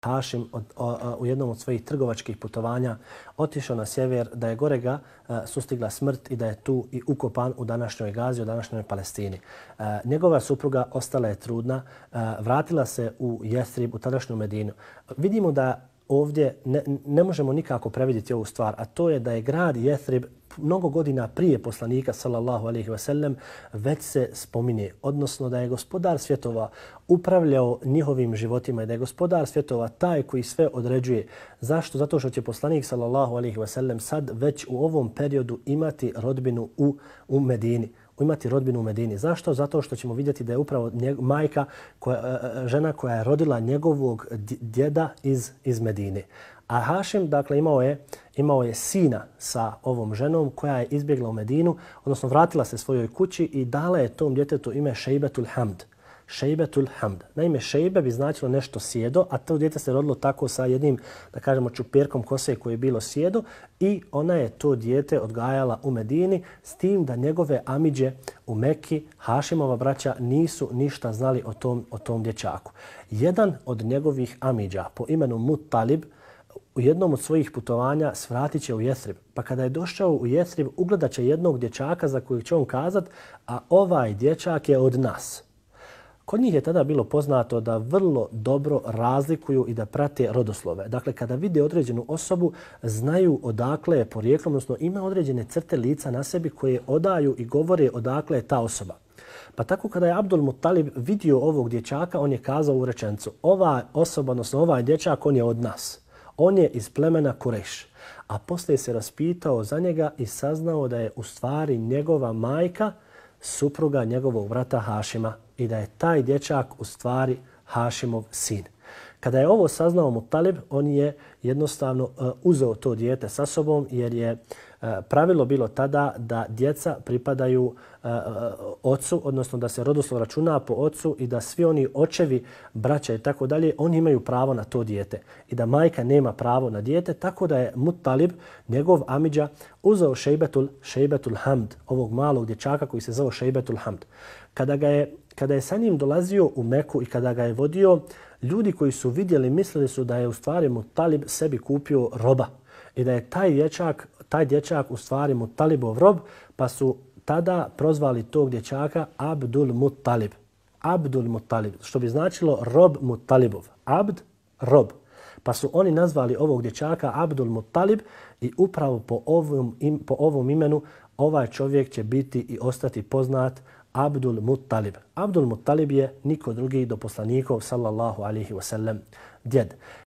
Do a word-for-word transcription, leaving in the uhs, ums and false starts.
Hašim od, o, u jednom od svojih trgovačkih putovanja otišao na sjever, da je gore ga a, sustigla smrt i da je tu i ukopan u današnjoj Gazi, u današnjoj Palestini. A, njegova supruga ostala je trudna, a, vratila se u Jestrib, u tadašnju Medinu. Vidimo da ovdje ne, ne možemo nikako previdjeti ovu stvar, a to je da je grad Jestrib mnogo godina prije poslanika sallallahu alejhi ve sellem već se spominje, odnosno da je gospodar svjetova upravljao njihovim životima i da je gospodar svjetova taj koji sve određuje. Zašto? Zato što će poslanik sallallahu alejhi ve sellem sad već u ovom periodu imati rodbinu u, u Medini. imati rodbinu u Medini. Zašto? Zato što ćemo vidjeti da je upravo njeg, majka, koja, žena koja je rodila njegovog djeda iz, iz Medine. A Hašim, dakle, imao je, imao je sina sa ovom ženom koja je izbjegla u Medinu, odnosno vratila se svojoj kući i dala je tom djetetu ime Šejbetul Hamd. Šejbetul Hamd. Naime, šejbe bi značilo nešto sjedo, a to dijete se rodilo tako sa jednim, da kažemo, čupirkom kose koje je bilo sjedo i ona je to dijete odgajala u Medini s tim da njegove amidže u Mekki, Hašimova braća, nisu ništa znali o tom, o tom dječaku. Jedan od njegovih amidža po imenu Muttalib u jednom od svojih putovanja svratit će u Jestrib. Pa kada je došao u Jestrib, ugledat će jednog dječaka za kojeg će on kazat, a ovaj dječak je od nas. Kod njih je tada bilo poznato da vrlo dobro razlikuju i da prate rodoslove. Dakle, kada vide određenu osobu, znaju odakle je porijeklom, odnosno ima određene crte lica na sebi koje odaju i govore odakle je ta osoba. Pa tako kada je Abdul Muttalib vidio ovog dječaka, on je kazao u rečenicu: ova osoba, odnosno ovaj dječak, on je od nas. On je iz plemena Kurejš. A poslije se raspitao za njega i saznao da je u stvari njegova majka supruga njegovog brata Hašima i da je taj dječak u stvari Hašimov sin. Kada je ovo saznao Muttalib, on je jednostavno uh, uzeo to dijete sa sobom jer je uh, pravilo bilo tada da djeca pripadaju uh, ocu, odnosno da se rodoslov računa po ocu i da svi oni očevi, braća i tako dalje, oni imaju pravo na to dijete i da majka nema pravo na dijete, tako da je Muttalib, njegov amidža, uzeo Šejbetul, Šejbetul Hamd, ovog malog dječaka koji se zove Šejbetul Hamd. Kada ga je Kada je sa njim dolazio u Meku i kada ga je vodio, ljudi koji su vidjeli mislili su da je u stvari Muttalib sebi kupio roba i da je taj dječak, taj dječak u stvari Muttalibov rob, pa su tada prozvali tog dječaka Abdul Muttalib. Abdul Muttalib, što bi značilo rob Muttalibov. Abd, rob. Pa su oni nazvali ovog dječaka Abdul Muttalib i upravo po ovom, im, po ovom imenu ovaj čovjek će biti i ostati poznat Abdul Muttalib. Abdul Muttalib je niko drugi do poslanikov sallallahu alaihi wasallam djed.